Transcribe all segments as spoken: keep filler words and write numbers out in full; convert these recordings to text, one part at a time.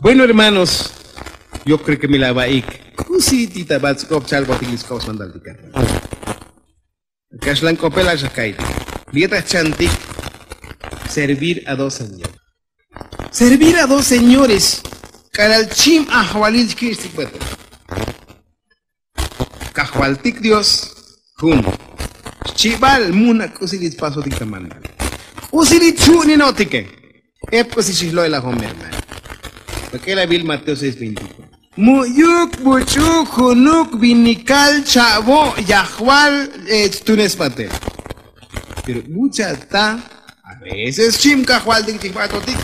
Bueno hermanos, yo kre ke mi la va'ik, k'usi ti ta bats'k'op chalbotik li sk'op smantal ti kajval? Kaxlan k'opel axaka'it li yet ajchantik. Servir a dos señores. Servir a dos señores. K'alal chim ajvalil xki'xtik batel. Kajvaltik dios jun. Xchibal mu na k'usi li spasotik ta mandal, k'usi li chu'ninotike. Ep k'usi xijlo'elajom hermano. Bak'elabil mateo seis veinticuatro. Mu'yuk buch'u junuk vinikal cha'vo' yajval. Chtunes batel. Pero bucha' ta a veces xchim kajvaltik chijbatotik.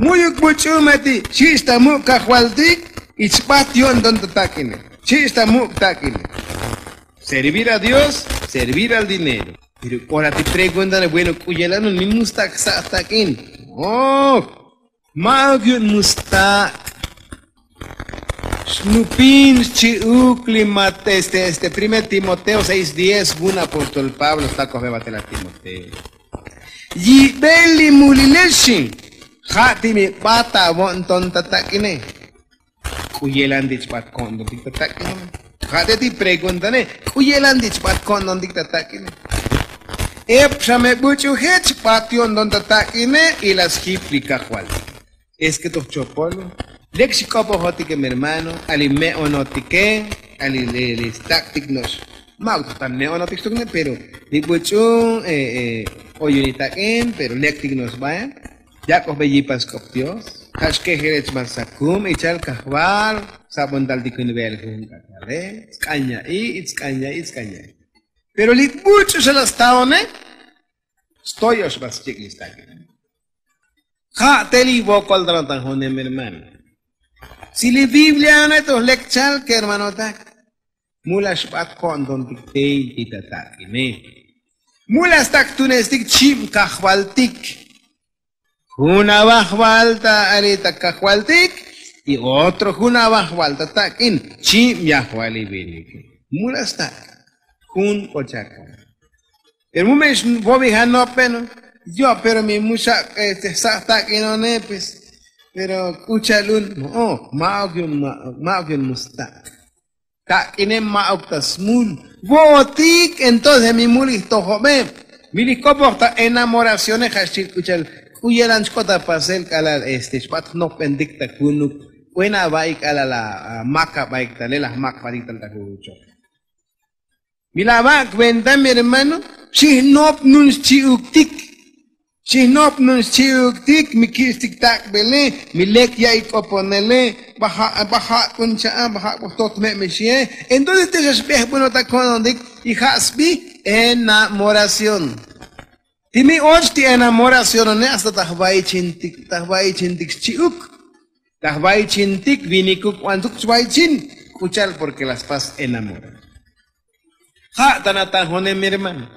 Mu'yuk buch'u mati xich' ta muk' kajvaltik. Y chbat yo'nton ta tak'ine. Xich' ta muk' tak'ine. Servir a dios, servir al dinero. Pero k'ora ti preguntane bueno k'u yelanun mi mustak' sa' tak'in? Ma'uk yu'un mustak'. Xnupin xchi'uk li mat este este primer timoteo seis diez vun apóstol pablo xtakoj bebatel a timoteo. Yibel li mulilex xin. Ja' ti mi b'at avo'nton ta tak'ine. K'u yelan ti chb'at ko'nton tik ta tak'ine? Ja' te ti preguntane. K'u yelan ti chb'at ko'nton tik ta tak'ine? Ep xa me b'uch'uje chb'at yo'nton ta tak'ine. Y la sjip li kajval. Es ke toj chopol lek xik'opojotike mi hermano. Ali me'onotike ali li stak'tik no'ox. Ma'uk toj ta me'onotik xtukne pero li b'uch'u oyunik tak'in pero lektik no'ox b'ae. Yak'ojbe yipas k'op dios. Ja' xkejerech ma sakum ichal kajval. Sab'ontal ti kun ve'el jujun k'ak'ale. Sk'an ya'i' sk'an ya'i' sk'an ya'i'. Pero li b'uch'u xa la staone. Stoyox b'a schik' li stak'in. Ja' te li vokol ta natan jonem hermano. Si li biblia one toj lek chal kermanotak. Mu la xb'at ko'ntontik tey ti ta tak'ine. Mu la stak tunestik chib' kajvaltik. Jun avajval ta ali ta kajvaltik. Y otro jun avajval ta tak'in chib' yajval li vinike. Mu la stak'. Jun k'o chakon. Pero mu me xvobi janop beno. Yo' pero mi mu xak' este jsaj tak'inone pues. Pero k'ucha'lun mo'oj. Ma'ok yu'un ma'ok yu'un mu stak'. Tak'ine ma'ok ta smul. Vo'otik entonces mi mul ijtojobe. Mi li jk'opoj ta enamoracione ja' xchil k'ucha'l. K'u yelan chk'ot apasel k'alal este xb'at jnopbentik ta junuk. Buen ava'ik k'alal amak aba'ik talel ajmak jb'atik tal ta jujuchoj. Mi la va' kuenta mi hermano. Xijnop nun xchi'uktik. Xijnop nun xchi'uktik mi kich'tik tak'bele. Mi lek ya'i k'oponele. B'aja' b'aja' k'un cha'a b'aja' k'u jtot me' mi xie. Entonces te xa xb'ejb'unotak ko'nontik. Y ja' sb'i enamoración. Ti mi och ti enamoracionone hasta ta jva'ichintik ta jva'ichintik xchi'uk. Ta jva'ichintik vinikuk b'antuk chva'ichin. K'ucha'l porke la spas enamorar. Ja' ta natan jonem mi hermano.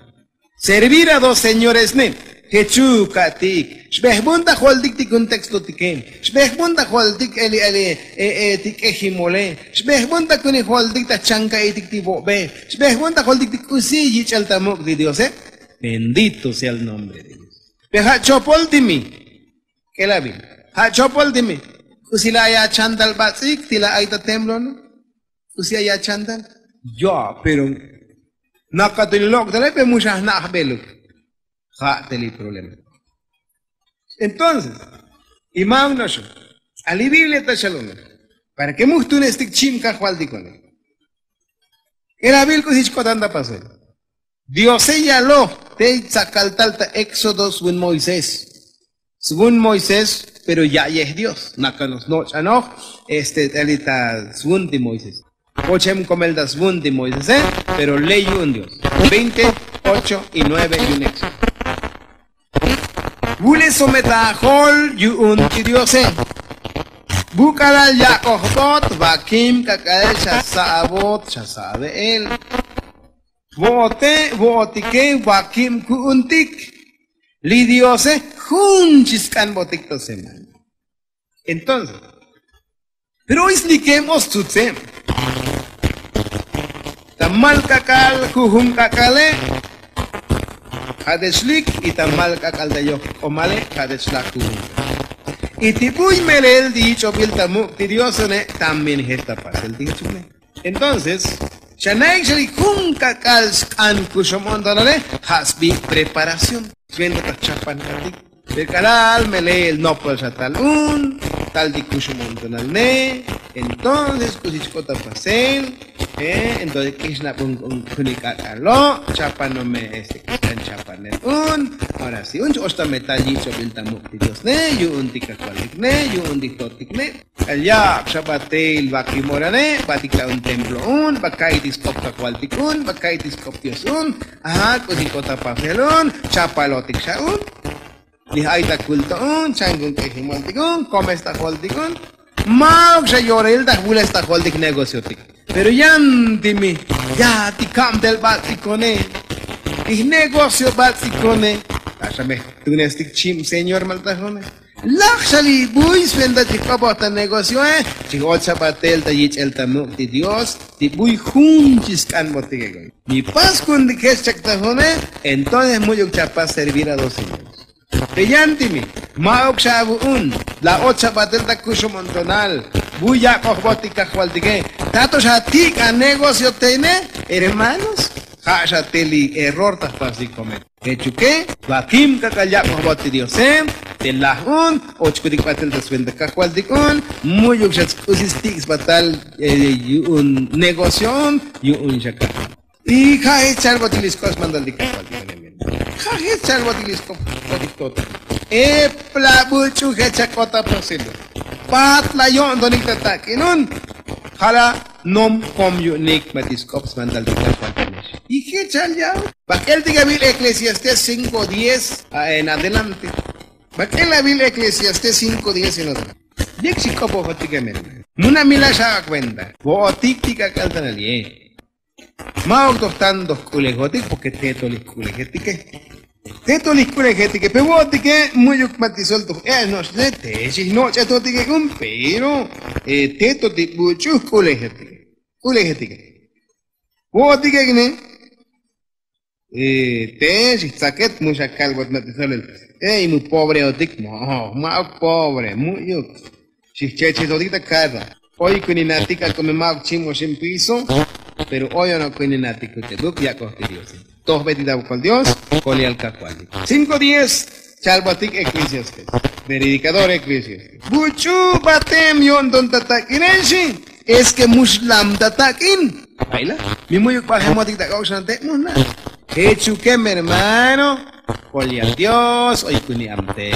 Servir a dos señores ne. Jechu ka'tik xb'ejb'un ta joltik ti kun textotike. Xb'ejb'un ta joltik eli eli ti k'ejimole. Xb'ejb'un ta kun ijoltik ta chanka'itik ti vo'be. Xb'ejb'un ta joltik ti k'usi yich'el ta muk' ti diose. Bendito sea el nombre de dios. Pe ja' chopol ti mi. K'elabil ja' chopol ti mi. K'usi la ay achantal bats'ik ti la ay ta temblone? K'usi ay achantal? Ya pero nakatuni lok' tale pe mu xa jna' jb'eluk. Ja' te li problema. Entonces y ma'uk no'ox. A li biblia ta xalone para ke mu jtunestik chib' kajvaltikone. K'elabil k'usi chk'otan ta pasel. Diose yaloj tey tsakaltal ta éxodo svun moisés. Svun moisés pero ya'yej dios nakano'ox noch'anoj. Este t'eli ta svun ti moisés. K'o chem komel ta svun ti moisese. Pero ley yu'un dios. Veinte ocho y nueve yu'un éxodo. Vule someta ajol yu'un ti diose. Vuk'alal yak'ojbot vakim k'ak'al xa sa' avot xa sa' ave'el. Vo'ote vo'otike vakib ku'untik. Li diose jun chi sk'anbotik ta semana. Entonces pero oy slikeb o stzutzeb. Ta mal k'ak'al jujun k'ak'ale ja' te xlik. Y ta mal k'ak'al ta yoj k'omale ja' te xlaj jujun k'ak'al. Y ti buy melel ti yich'obil ta muk' ti diosone también jech ta pasel ti jech une. Entonces xa na'ik xa li jun kak'al sk'an kuxob on tonale ja' sbi preparación. Sventa ta chapan katik. Pero k'alal melel nopol xa tal un tal ti kuxob on tonal ne. Entonces k'usi chk'ot ta pasel. Entonces k'ixnabon jun ik'ak'alo' chapanome este k'ixtan chapanel un. Ahora si un ch-och ta metal yich'obil ta muk' ti dios ne yu'un ti kajvaltik ne yu'un ti jtotik ne. K'al yak' xa batel vakimorane batik ta un templo un baka'iy ti sk'op kajvaltik un baka'iy ti sk'op dios un. Aha k'usi k'ot ta pasel un chapalotik xa un. Li ay ta kulto un chan kun k'ejimoltik un komes ta joltik un. Ma'uk xa yoril ta jbules ta joltik negociotik. Pero yan ti mi ya ti kabtel batz'ikone ti jnegocio batz'ikone. Taxa me jtunestik chib señor maltajone. Laj xa li buy sventa chi jk'opoj ta negocioe. Chi j-och xa batel ta yich'el ta muk' ti dios ti buy jun chi sk'anbotik ego. Mi pas kuntik jech chak tajone. Entonces mu'yuk chapas servir a dos señores. Te yan ti mi ma'uk xa avu'un. La och xa batel ta kuxob on tonal. Buy yak'ojbotik kajvaltike. Tato xa tik' anegocio tene. Hermanos ja' xa te li error ta jpasik komet. Jechuke vakim kak'al yak'ojbot ti diose. Te laj un ochkutik batel ta sventa kajvaltik un. Mu'yuk xa tsk'usi stik' sbatal yu'un negocio un. Yu'un xa kajval. Y ja' jech chalbotik li sk'op smantal ti kajvaltik. Ja' jech chalbotik li sk'op smantal ti kajvaltik. Epla buch'u jech chak'ot ta pasel un. Patla yo'ntonik ta tak'in un. Ja' la nom kom yu'unik ma ti sk'op smantal ti kajvaltik. Y jech chal ya bak'el ti kavil eclesiastés cinko diez en adelante. Bak'el avil eclesiastés cinko diez en adelante. Yek' chi k'opojotik emel. Munamila xa akuenta vo'otik ti k'ak'al tanal ye. Ma'uk toj tanto jk'ulejotik porke teto li jk'ulejetike. Teto li jk'ulejetike pe vo'otike. Mu'yuk ma ti sol toj e'ax no'ox ne te xijnoch'etotike k'un pero teto ti buch'u jk'ulejetike. Jk'ulejetike vo'otike k'ne. Te xijtzaket mu xa kalbot ma ti sol el. Ey mu pobreotik. Ma'uk pobre mu'yuk. Xijchechetotik ta karra. Oy kuninatik ak'o me ma'uk chim oxin piso. Pero oy ono kuninatik kuch'ebuk yak'oj ti diose. Tojbetik ta bukol dios. Kolial kajvaltik cinko diez. Chalbatik eclesiastés predikador eclesiastés. Buch'u batem yo'nton ta tak'inexi. Es ke mu xlam ta tak'in. Ayla mi mu'yuk bajemotik ta k'ok'xante' mujna. Jechuke mi hermano. Kolial dios oy kuni amte.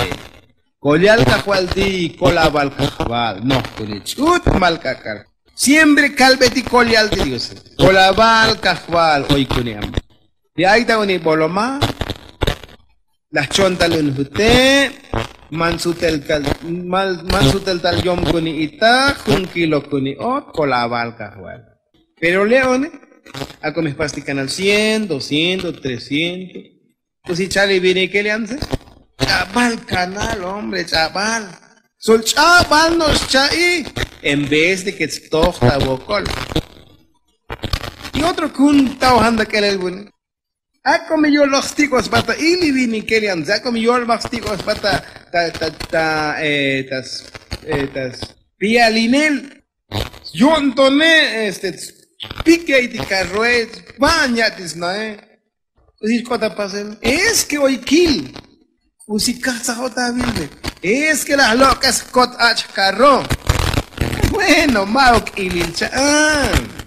Kolial kajvaltik kolabal kajval noj kuni ch'ut mal k'ak'al. Siempre kalbetik kolial ti diose. Kolabal kajval oy kuni amte. Li ay ta uni boloma. Laj chon tal un jute'. Man sutel tal yom kuni itaj jun kilo kuni ot kolabal kajval. Pero le'one ak'o me jpas ti kanal cien doscientos trescientos. K'usi chal li vinikel yan tze. Ch'abal kanal hombre ch'abal. Sol ch'abal no'ox cha'i. En vez de ke tstoj ta vokol. Y otro kun ta ojan ta k'elel vune. Ak'o mi yolbaj stik'o sba ta ili vinikel yan tze ak'o mi yolbaj stik'o sba ta ta ta ta ta spialinel. Yo'ntone este spikey ti karroe. Sba'n ya' ti snae. K'usi xk'ot ta pasel es ke oy kil. K'usi kajtzajot ta avilbe. Es ke laj lok'es jkot ach' jkarro. Bueno ma'uk ilil cha'an.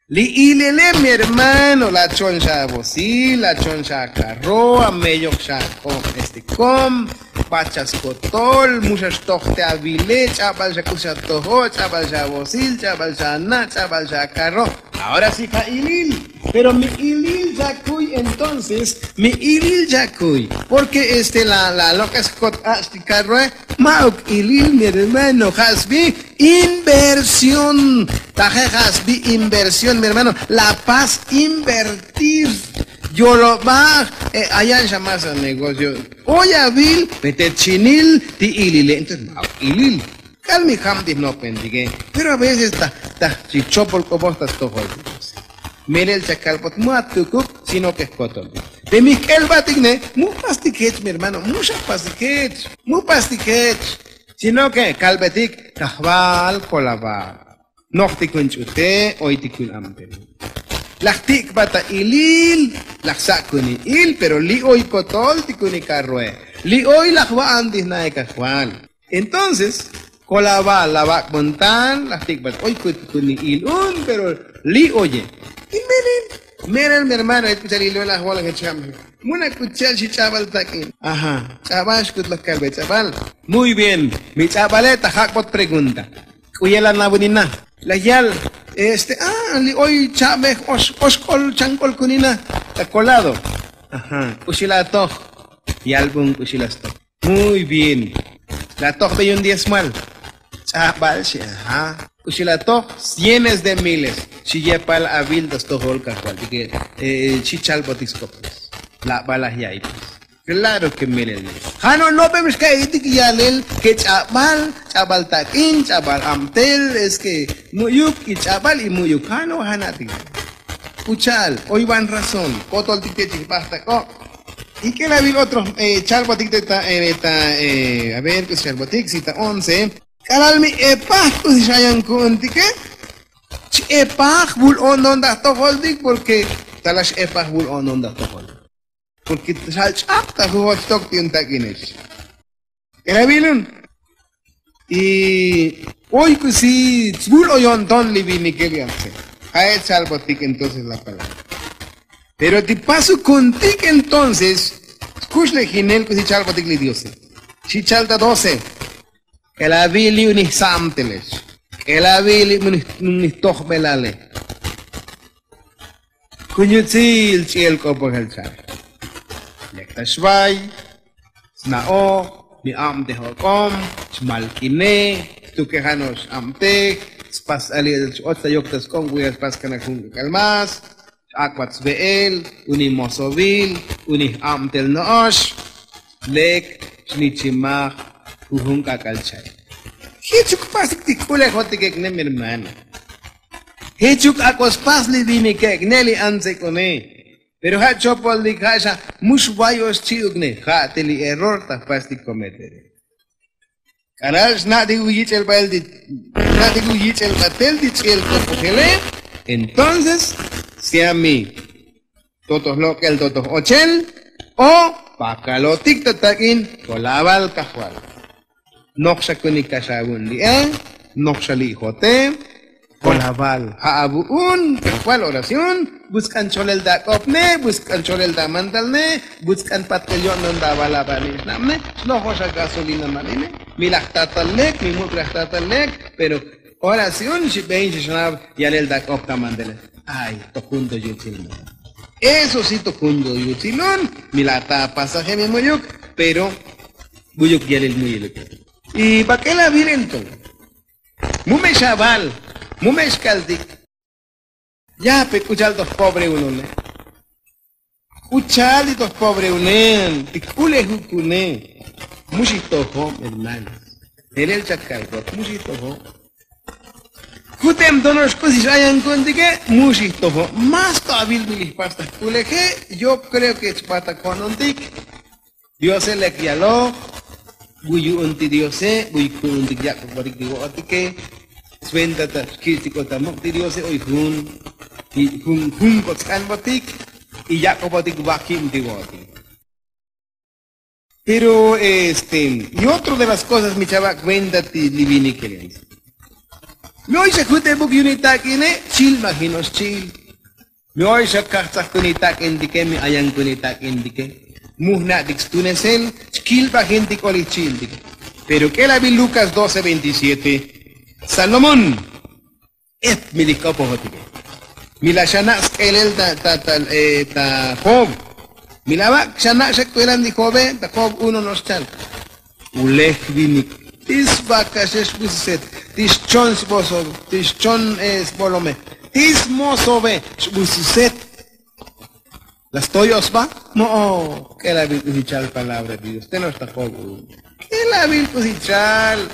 Li ilele mi hermano la chon xa avosil la chon xa akarro ameyok xa kom este kom. Bat xa skotol mu xa xtoj te avile ch'abal xa k'us xa tojo' ch'abal xa avosil ch'abal xa ana' ch'abal xa akarro. Ahora si ja' ilil. Pero mi ilil xa kuy entonces mi ilil xa kuy. Porke este la lok'es jkot ach' ti karroe. Ma'uk ilil mi hermano ja' sbi inversión. Taje ja' sbi inversión mi hermano. La pas invertir. Yolobaj. Ayan xa mas anegocio. Oy avil. Mete chinil ti ilile entonces ma'uk ilil. K'al mi jab ti jnopentike. Pero aveces ta ta chi chopol k'opoj ta stojol ti dios. Melel chakalbot ma tukuk sino ke jkotol. Te mi jk'elbatik ne, mu jpastik jech mi hermano, mu xa jpastik jech, mu jpastik jech. Sino ke kalbetik kajval kolabal, nojtikun ch'ute, oytikun abtel. Laj tik'bat ta ilil, laj sak'kuni il pero li' oy kotol tikuni karroe, li' oy laj va'an ti jna'e kajval. Entonces kolabal la vak'bon tal laj tik'bat oy kutkunil un pero li' oye. Y melel, melel mi hermano, k'uchal ilon laj volaj jech jab. Muna k'uchal xi ch'abal tak'in. Ajá. Ch'abal xkut laj kalbe ch'abal. Muy bien. Mi ch'abale ta jak'bot pregunta. K'u yel anabunina? Laj yal, este a li' oy cha'bej oxk'ol chank'ol kunina ta kolado. Ajá. K'uxi la atoj? Yalbun k'uxi la stoj. Muy bien. La atojbe yu'un diezmal? Ch'abal xi. Ajá. K'uxi la atoj? Cienes de miles. Xi yepal avil ta stojol kajvaltike. Xi chalbotik skopes. Labal laj ya'iy pues. Klaro ke melel ne. Ja' no' nopem xka'itik yalel ke ch'abal, ch'abal tak'in, ch'abal abtel, es ke mu'yuk y ch'abal y mu'yuk ja' no' ja' na'tik. K'ucha'al oy van razón kotoltik te chij bajtak'ob. Y k'elavil otro chalbotik te ta, ta a ver k'usi chalbotik si ta once. K'alal mi epaj k'usi xayan ku'untike. Ch-epaj vul o'nton ta jtojoltik porque ta laj x-epaj vul o'nton ta jtojoltik. Porque xal ch'ab ta jujol xtok ti un tak'inex. K'elavilun. Y oy k'usi svul oy o'nton li vinike li atse. Ja'ech chalbotik entonces la palabra. Pero ti pasukuntik entonces skuxlejinel k'usi chalbotik li diose. Xi chal ta doce. K'elavil li' unij sa'amtelex. K'elavil li' unij tojbelale. Kun yutsil ch'i'el k'opojel cha'al. Lek ta xvay, sna'oj, mi abtej ok'om, xmalk'inej, xtukejan o xabtej, spas ali'el x-och ta yok ta sk'ob kuya spas kana jun k'ak'al mas, x-ak'bat sve'el, unij mosovil, unij abtel no'ox. Lek xnichimaj jujun k'ak'al cha'al. Jichuk pasik ti k'ulejotike k'ne mi hermano. Jichuk ak'o spas li vinike k'ne li antsek'une. Pero ja' chopoltik ja' xa mu xvayox chi'uk ne ja' te li error ta jpas ti kometere. K'alal xna'tik u yich'el bael ti xna'tik u yich'el batel ti ch'i'el kopojele. Entonces sea mi totoj lok'el totoj ochel o pakalotik ta tak'in. Kolabal kajval. Noj xa kunik kax avu'un li'e, noj xa li'jote. Kolabal ja' avu'un kajval oración. Busk'an cholel ta ak'opne, busk'an cholel ta amantalne, busk'an patbel yo'nton ta avalabal li' xna'bne. Xnojox agasolina manine. Mi laj tatal lek, mi muk' laj tatal lek. Pero oración xi ben xi xnab yalel ta ak'op ta amantele. Ay, tojun to yutsil. Eso si tojun to yutsilun. Mi laj ta apasaje mi mu'yuk. Pero mu'yuk yalel muyiluk. Y bak'el avil enton. Mu me xaval, mu me xkaltik. Yape k'u cha'al to jpobreunone? K'u cha'al ti to jpobreune ti k'ulejukune? Mu xijtojo' hermano. Jelel chakal to mu xijtojo'. Jutem tono'ox k'usi xayanku'untike mu xijtojo'. Más to avil mi lijpas ta jk'uleje. Yo kreo ke chbatak jo'nontik. Diose lek yaloj. Vuy yu'un ti diose vuy ku'untik yak'obotik ti vo'otike. Sventa ta xkich'tik o ta muk' ti diose oy jun jun jun k'ot sk'anbotik. Y yak'obotik vakib ti vo'otik. Pero este y otro de las kosas mi chavak' venta ti li vinike. Mi oy xa jutebuk yu'un itak'ine. Chilbajino'ox chi'il. Mi oy xa kajtzajkun itak'intike mi ayankun itak'intike. Mu jna'tik stunesel. Chkilbajintik olij chi'iltike. Pero k'elabil lukas doce veintisiete. Salomón. Et mi lij k'opojotike. Mi laj xana' sk'elel ta ta ta job. Mi laj vak' xana' xa k'uelan ti jobe ta job uno no'ox chal. Ulej vinik ti svakaxe xbususet, ti xchon sbosobe, ti xchon sbolome, ti smosobe xbususet. La stoyoj sba. Mo'oj. K'elavil k'usi chal palabra de dios te no'ox ta job uno. K'elavil k'usi chal.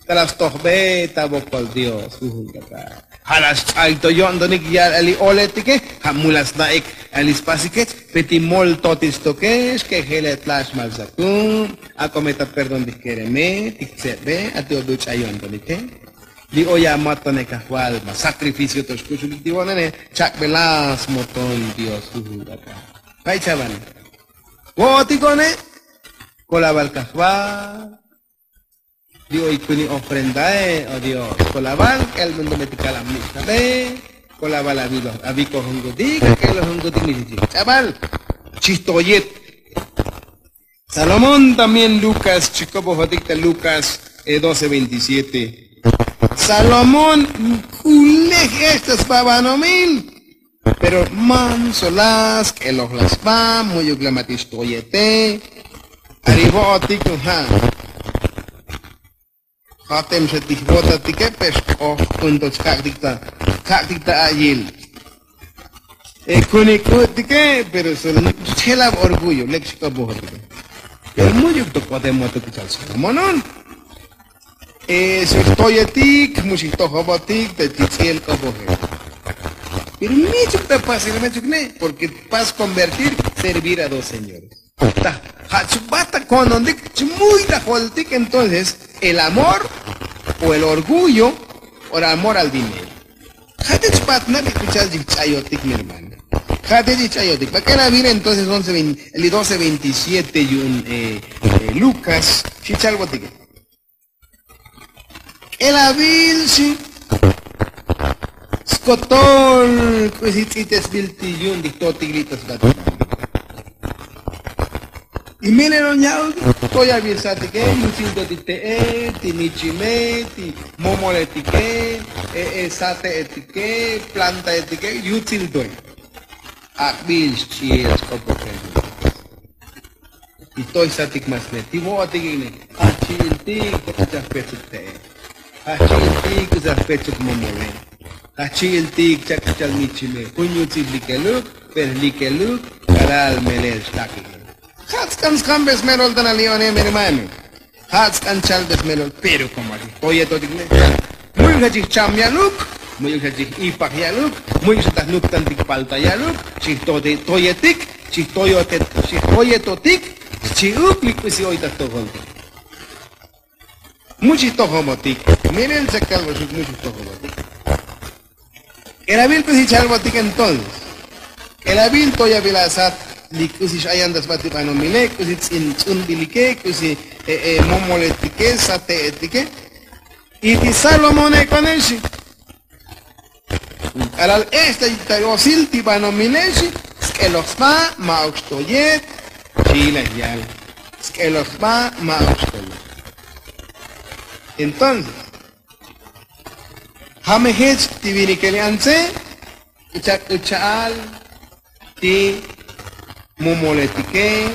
Ta la stojbe ta vokol dios jujun k'ak'al. Ja' la xch'ay to yo'ntonik ya'al a li oletike. Ja' mu la sna'ik a li spasikech. Pe ti mol to ti xtokex ke jelet la xmal sakun. Ak'o me ta perdón ti jkereme ti jtsebe a ti obi uch'ay yo'ntonike. Li oy amatonej kajval ma sakrificio to xkuxulik ti vo'nene. Chak'bela smoton dios jujun k'ak'a'. Jay chaval. Vo'otik one. Kolaval kajval. Li oy kuni ofrendae o dios kolaval k'el muntumetik kalamnix kabe. Kolaval avikojonkutik ak'elojonkutik mi chichi. Ch'abal. Chijtoyet. Salomón también lukas chikobojotik ta lukas doce veintisiete. Salomón k'ulej ex ta sba banomil. Pero manso la sk'eloj la sba mu'yuk la matix toyete. Ari vo'otik ja'. Jatem xa ti jvotatike pe xk'oj k'un to chkak'tik ta chkak'tik ta a'yil. Kunik k'u'tike pero solo chjelab orgullo lek xk'obojotike. Pero mu'yuk to k'otemotik chal salomonon. Xijtoyetik mu xijtojobotik ta ti tz'iel k'oboje. Pero michuk ta pasil mechuk ne' porque pas konvertir servir a dos señores. Ta ja' chbat ta ko'ntontik chmuy ta joltik entonces el amor o el orgullo o el amor al dinero. Ja' te chbat na' li k'u chal chijch'ayotik mi hermano. Ja' te chijch'ayotik bak'el avil entonces once veintisiete yu'un lukas xichalbotik. K'elavil xi skotol k'usi tz'itesbil ti yu'un ti jtotik li' ta sba ti banil. Y melel on ya'uk toyabil satike yutsil to ti te'e ti michime ti momoletike sate'etike plantaetike yutsil toy. Ak'bil xch'iel sk'opokel. Y toy satik masne ti vo'otik ik'ne ajchi'iltik chak k'uchaj pechuk te'e. Ajchi'iltik k'uchaj pechuk momole. Ajchi'iltik chak k'uchaj michime jun yutsil likeluk. Pero likeluk kalal melel xtakik. Ja' tsk'an skambes melol tana li' one mi hermano. Ja' tsk'an chalbes melol pero komo ajchij toyetotik ne. Mu'yuk xa chij cham ya'luk mu'yuk xa chij ipaj ya'luk mu'yuk xa ta jnuptantik palta ya'luk. Chij toyetik chij toyetotik xchi'uk li k'usi oy ta jtojoltik. Mu chij tojobotik. Melel chakalboxuk mu chij tojobotik. K'elavil k'usi chalbotik entonces. K'elavil toyabil asat li k'usi x'ayan ta sba ti banomile k'usi tz'unbilike k'usi momoletike sate'etike. Y ti salomone k'one xi k'alal ex ta yosil ti banomile xi sk'eloj sba ma'uk xtoyet. Xi la yal sk'eloj sba ma'uk xtoyet. Entonces ja' me jech ti vinikel li antse k'uchak k'ucha'al ti momoletike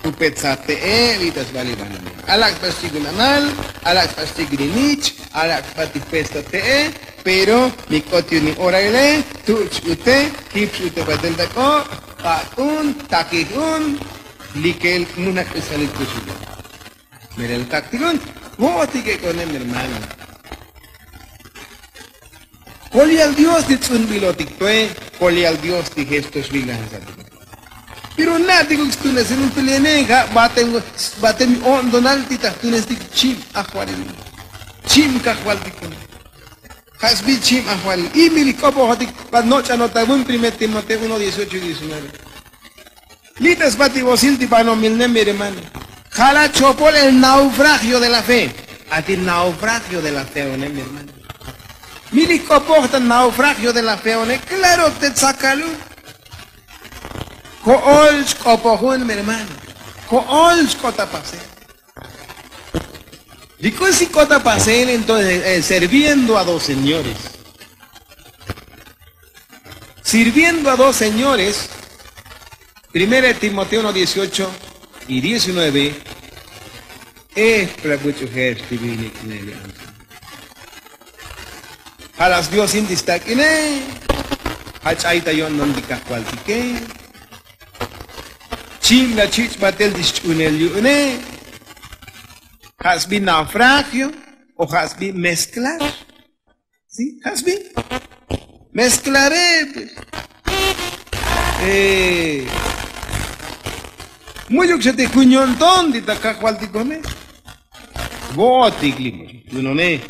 jupet sate'e li' ta sba li bananal alak' sba xchik vinamal alak' sba xchik vinich alak' sba ti pesta te'e. Pero mi k'ot yu'un oraile tu' ch'ute jip ch'ute batel ta k'o' k'ak'un takij un likel mu na k'usalil kuxulil. Melel taktik un vo'otik ek'onem hermano. Kolial dios ti tz'unbilotik toe kolial dios ti jesto xvilajasatik. Pero na'tik uk stunesil un tulene ja' batem o'ntonal ti ta jtunestik chib ajvalil chib kajvaltik un. Ja' sbi chib ajvalil y mi li k'opojotik bat noch'anot ta vun primer timoteo uno dieciocho y diecinueve. Li' ta sba ti vosil ti banomil ne mi hermano. Ja' la chopol el naufragio de la fe. A ti naufragio de la fe one mi hermano. Mi li k'opoj ta naufragio de la fe one klaro te tsakaluk. Ko'ol chk'opojun mi hermano. Ko'ol chk'ot ta pasel. Li k'usi k'ot ta pasel entonces serviendo a dos señores. Sirviendo a dos señores. Primera de timoteo uno dieciocho y diecinueve. Ejpla buch'u je'ex ti vinik neli anti. Ja' las dios inti stak'ine. Ja' ch'ay ta yo'nton ti kajvaltike. Chib la chich' batel ti xch'unel yu'une. Ja' sbi naufragio o ja' sbi mezclar. Sí, jasbi. Mezclaré, pues. Mu'yuk xa ti jun yo'nton ti ta kajvaltikone. Vo'otik li, yunone.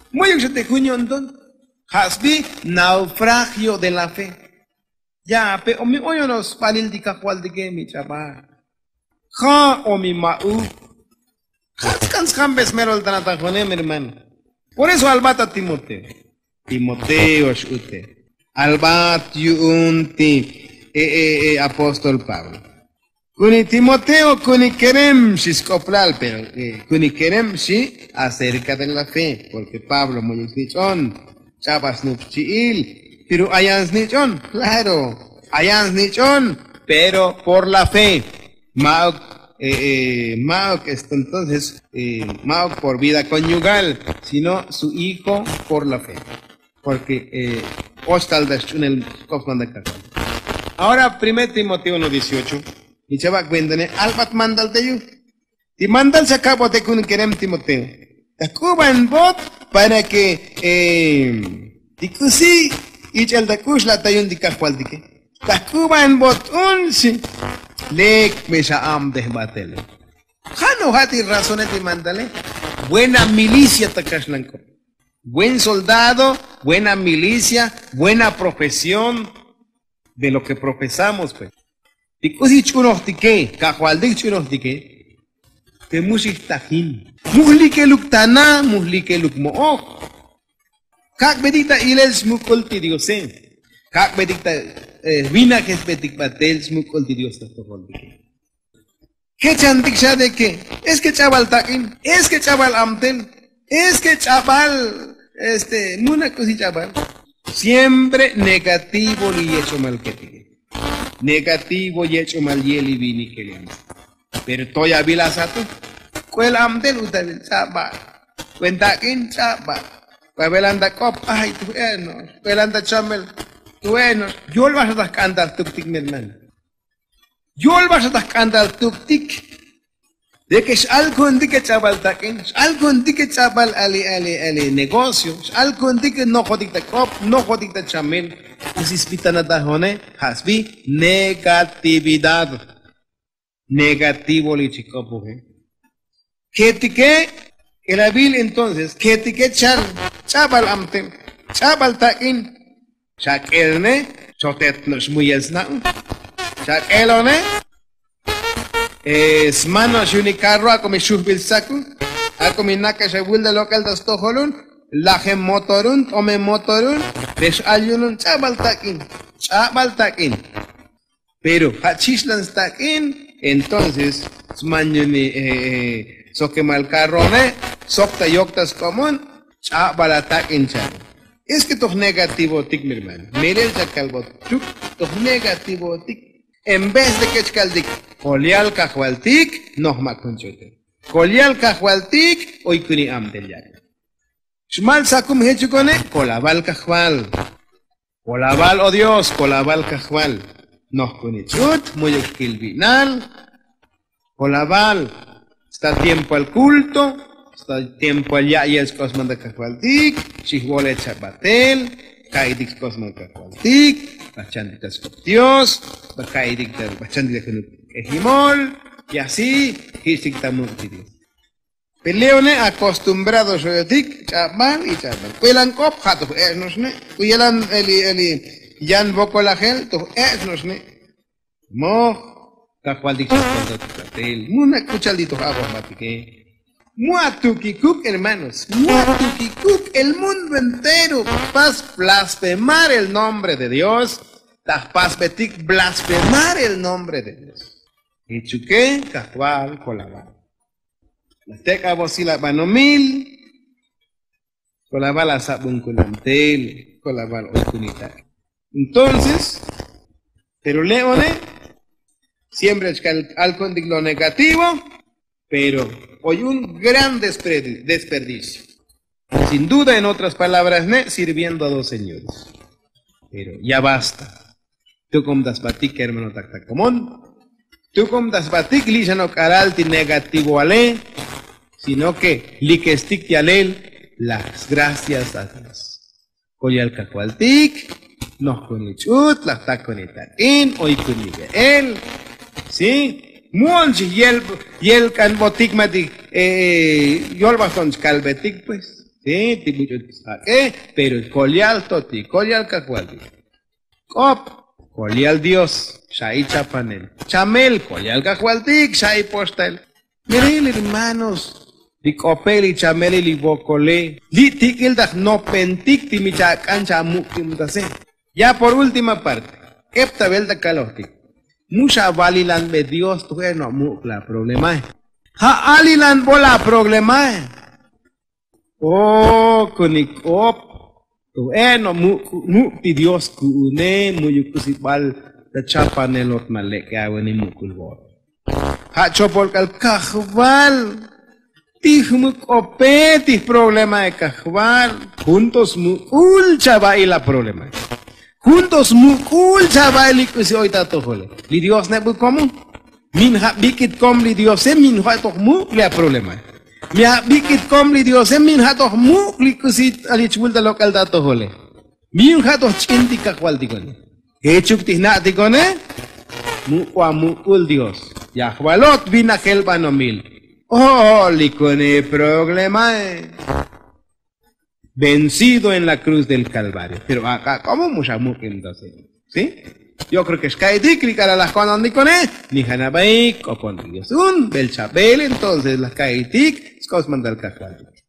Mu'yuk xa ti jun yo'nton. Jasbi, naufragio de la fe. Ya pe o mi oyono sbalil ti kajvaltike, mi ch'abal. Ja' o mi ma'uk. Jats kan sjambes merol tana ta jone, mi hermano. Por eso albat ta timoteo. Timoteo x'ute. Albat yu'un ti apóstol pablo. Kuni timoteo kuni kerem xi sk'oplal, pero kuni kerem xi acerca de la fe, porque pablo mu'yuk snich'on. Ch'abal snup xchi'il. Pero ayan snich'on, claro. Ayan snich'on, pero por la fe. Ma'uk ma'uk esto entonces, ma'uk por vida konyugal, sino su hijo por la fe. Porque och tal ta xch'unel sk'op smantak ta jun. Ahora primer timoteo uno dieciocho. Ni chava' kuentane, albat mandal te yu'. Ti mandal xa kabote kun kerem timoteo. Ta jk'uban bot para ke ti k'usi ich'el ta k'ux la' ta yu'un ti kajvaltike. Ta jk'uban bot un xi. Lek me xa abtej batel. Ja' no ja' ti razone ti mandale. Buena milicia ta kaxlan k'op. Buen soldado, buena milicia, buena profesión. De lo ke profesamos pues. Ti k'usi ch'unojtike, kajvaltik ch'unojtike. Te mu xijtajin. Mu jlikeluk tana, mu jlikeluk mo'oj. Kak'betik ta ilel smuk'ul ti diose. Kak'betik ta vinajesbetik batel smuk'ul ti dios ta jtojoltike. Jechantik xa de ke es ke ch'abal tak'in, es ke ch'abal abtel, es ke ch'abal este mu na k'usi ch'abal. Siempre negativo li yech'umal ketike. Negativo yech'umal ye' li vinike li antik. Pero toy avilasa tu. K'uel abtel utavil ch'abal. K'uel tak'in ch'abal. K'uel avelanta k'op, ay tu e'nox. K'uel anta chamel, tu e'nox. Yolbal xa ta jk'antal tuktik mi hermano. Yolbal xa ta jk'antal tuktik. De ke x'alkuntike ch'abal tak'in, x'alkuntike ch'abal ali ali ali negocio, x'alkuntike nojotik ta k'op, nojotik ta chamel. K'usi sbi tana ta jone? Ja' sbi negatividad. Negativo li chik'opuje. Ketike k'elavil entonces ketike chal ch'abal abtel, ch'abal tak'in. Xak'el ne, xotet no'ox muyel sna'un. Xak'el one. Sman no'ox yu'un li karro ak'o mi xujbil stsaku. Ak'o mi nak'ex avul ta lok'el ta stojolun. Lajem motorun, t'omem motorun. Rex al yu'unun ch'abal tak'in. Ch'abal tak'in. Pero ja' chixlan stak'in. Entonces sman yu'un li sokemal karro one. Sok ta yok ta sk'obun. Ch'abal atak'in cha'al. Es ke toj negativotik mi hermano, melel chakalbotuk. Toj negativotik. En vez de ke chkaltik, kolyal kajvaltik, noj ma' kun ch'utel. Kolyal kajvaltik oy kuni abtel yak'. Xmal sakum jechukone? Kolaval kajval. Kolaval o dios, kolaval kajval. Noj kuni ch'ut, mu'yuk kilvi'nal. Kolaval. Sta tiempoal kulto. Sta tiempoal ya'yel sk'osman ta kajvaltik. Xijvolech xa batel. Ka'itik sk'osman ta kajvaltik. Bachantik ta sk'op dios. Baka'itik ta bachantik ta junuk k'ejimol. Y asi jich'tik ta muk' ti dios. Peleone akostumbrado xoyotik ch'abal y ch'abal k'uyelan k'op ja' toj ech' no'oxne'. K'uyelan eli eli yan vokolajel toj ech' no'oxne'. Moj. Kajvaltik xakontatik batel mu na k'u cha'al ti toj abojbatike. Mu atukikuk hermanos, mu atukikuk. El mundo entero jpas blasfemar el nombre de dios. Ta jpasbetik blasfemar el nombre de dios. Jichuke kajval kolaval. La tek'avosil abanomil. Kolaval asabun kunamtel. Kolaval oy kunitak. Entonces pero le'one siempre chkal alkontik lo negativo. Pero oy un gran desperdicio. Sin duda en otras palabras ne sirviendo a dos señores. Pero ya basta. Tukum ta sbatik hermano taktakomon. Tukum ta sbatik li' xanok'alal ti negativoale. Sino ke likestik ti alel las gracias a dios. Kolyal kajvaltik, noj kun ich'ut laj tak kun itak'in oy kun ive'el. Sí. Mu'on chi yel yel k'anbotik ma ti yolbaj ton chkalbetik pues. Sí. Ti buch'ut jak'e. Pero kolyal to ti kolyal kajvaltik. K'op, kolyal dios. Xa'i chapanel chamel kolyal kajvaltik xa'i poxtael. Miril hermanos, li k'ope li chameli li vokole li tik'il ta jnopentik ti mi chak'an chamuk'imtase. Ya por última parte. Ep ta vel ta kalojtik. Mu xavalilanbe dios tu je' no muk' la problemae. Ja' alilanbo la problemae. O kunik k'op. Tu je' no muk' ti dios ku'une mu'yuk k'usi bal ta chapanelot ma lek'e aveni muk'ul vot. Ja' chopol k'al kajval. Ti jmuk k'ope ti jproblemae kajval. Juntos muk'ul chava'i la problemae. Juntos muk'ul chava'i li k'usi oy ta atojole. Li dios nebuk komu. Min ja' bik'it kom li diose min ja' toj muk' li aprolemae. Mi ja' bik'it kom li diose min ja' toj muk' li k'usi. Alich vul ta lok'al ta atojole. Min ja' toj ch'in ti kajvaltikone. Jechuk ti jna'tikone. Muk'ua muk'ul dios. Yajvalot vinajel banomil. Ojo'olikone problemae. Vencido en la cruz del kalvario. Pero ak'a k'omo mu xamuk'im ta señor. Sí. Yo kreo ke xka'itik li k'ala' laj ko'nontikone. Ni janabaik k'opon dios un bel chabel entonces laj ka'itik. Sk'os mandal kajvaltik.